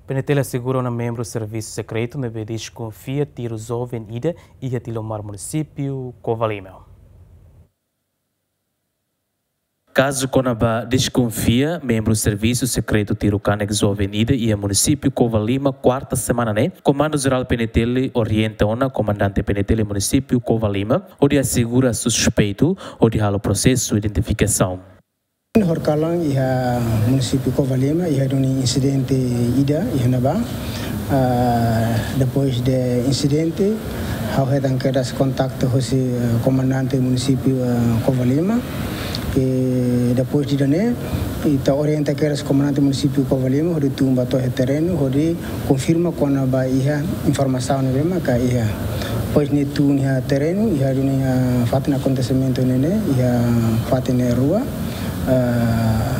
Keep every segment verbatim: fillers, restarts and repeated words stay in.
PNTL asegura ona membru servisu sekretu ne'ebé deskonfia tiru joven ida iha Tilomar, munisípiu Covalima. Kazu kona-ba deskonfia membru servisu sekretu tiru kanek joven ida iha munisípiu Covalima, kuarta semana ne'e, Komandu Jerál PNTL orienta ona komandante PNTL munisípiu Covalima hodi asegura suspeitu hodi halo prosesu identifikasaun. Horikalan iha munisípiu Covalima, iha duni insidente ida iha ne'ebá. Ah, depois de insidente, ha'u hetan kedas kontaktu hosi, eh, komandante munisípiu, eh, Covalima. I depois de ida-ne'e, ita orienta kedas komandante munisípiu Covalima hodi tun ba to'o iha terrenu hodi konfirma kona-ba iha informasaun ne'ebé maka iha. Depois nia tun iha terrenu, iha duni, ah, fatin akontesimentu ne'e ne'e, iha fatin ne'e rua, ah,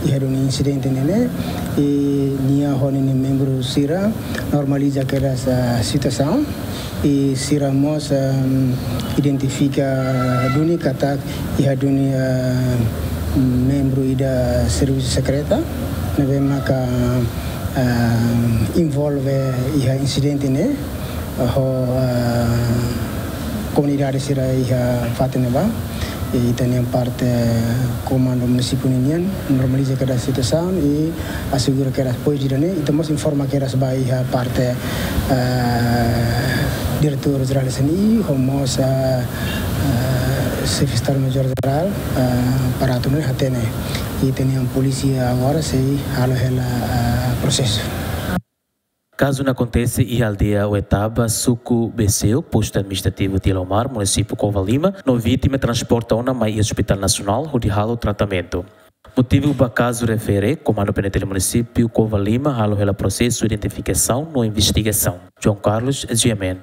iha duni insidente ne'e ne'e, i nia ho ninia membru sira normaliza kedas, ah, situasaun, i sira mós, ah, identifika duni katak iha duni, ah, membru ida servisu sekreta ne'ebé maka, ah, envolve iha insidente ne'e, ho, ah, komunidade sira iha fatin ne'ebá. I ita-nia parte komandu munisípiu ninian normaliza kedas situasaun i asegura kedas depois de ida-ne'e, ita mós informa kedas ba iha parte, ah, Diretór Jerál S N I, ho mós, ah, ah, Xefe Estadu Maiór Jerál, ah, para atu nune'e hatene. I ita-nia polísia agora sei halo hela, ah, prosesu. Kazu ne'e akontese iha aldeia Oetaba, suku Beseu, postu administrativu Tilomar, munisípiu Covalima, no vítima transporta ona mai Hospital Nasionál hodi halo tratamentu. Motivu ba kazu refere, Komandu PNTL munisípiu Covalima halo hela prosesu identifikasaun no investigasaun. João Carlos, G M N,